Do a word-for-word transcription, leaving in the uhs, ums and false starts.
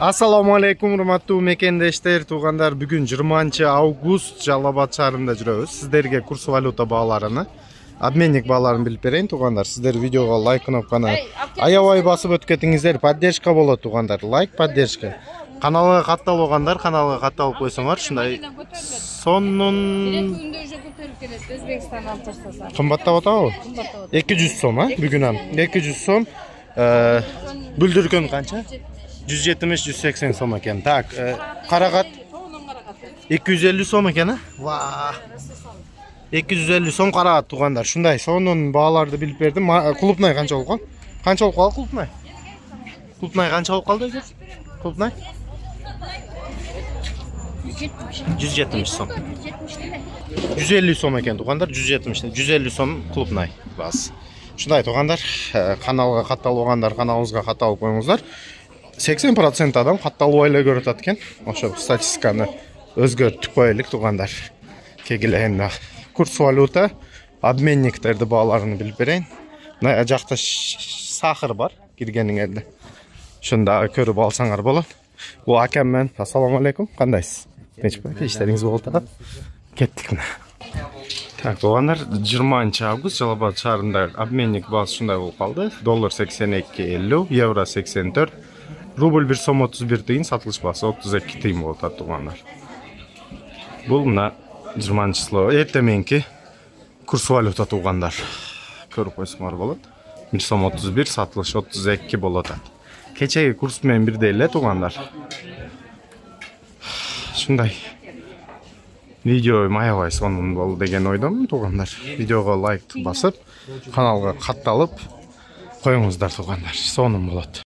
Assalamu alaikum, урматтуу мекендештер, туугандар. Бүгүн жыйырманчы август Жалал Абад шаарында жүрөбүз. Сиздерге курс валюта бааларыны, обменник бааларын билип берейин, туугандар. Сиздер видеого лайк кнопканы аябай басып өтүп кетиңиздер. Поддержка болот, туугандар. Лайк, поддержка. Каналга катталгандар, каналга катталып койсоңор, ушундай сонун кымбаттап атабы? эки жүз сом, а? Бүгүн ам эки жүз сом. Бүлдүргөн канча? жүз жетимиш жүз сексен сом экен. Так, карагат эки жүз элүү сом экен, а? Ва! эки жүз элүү сом карагат, туугандар. Ушундай сонун бааларды билип бердим. Клубнай канча болгон? Канча болуп калды клубнай? Клубнай канча болуп калды экен? Клубнай? жүз жетимиш сом. жүз элүү сом экен, туугандар. жүз жетимиш, жүз элүү сом клубнай баасы. Ушундай, туугандар, каналга катталгандар, каналыбызга катталып коюңуздар. сексен процент адам катталбай эле көрүп атат экен. Ошо статистиканы өзгөртүп коелук, туугандар. Кегилен курс валюта, обменниктерди бааларын билип берейин. Мына жакта сахар бар киргениңерде. Ошондо көрүп алсаңар болот. Бул акам мен. Ассаламу алейкум. Кандайсыз? Нечпи? Иштериңиз болуп атат? Кеттик мына. Так, туугандар, жыйырманчы август Жалал Абад шаарында обменник баасы ушундай болуп калды. Доллар сексен эки элүү, евро сексен төрт, рубль бир сом отуз бир тыйын, сатылыш баасы отуз эки тыйын болуп атат, туугандар. Бул мына жыйырманчы число эртеменки курс валюта, туугандар. Көрүп койсоңор болот. бир сом отуз бир, сатылыш отуз эки болуп атат. Кечеги курс менен бирдей эле, туугандар. Ушундай видео аябай сонун болду деген ойдомун, туугандар. Видеого лайк басып, каналга катталып коюңуздар, туугандар. Сонун болот.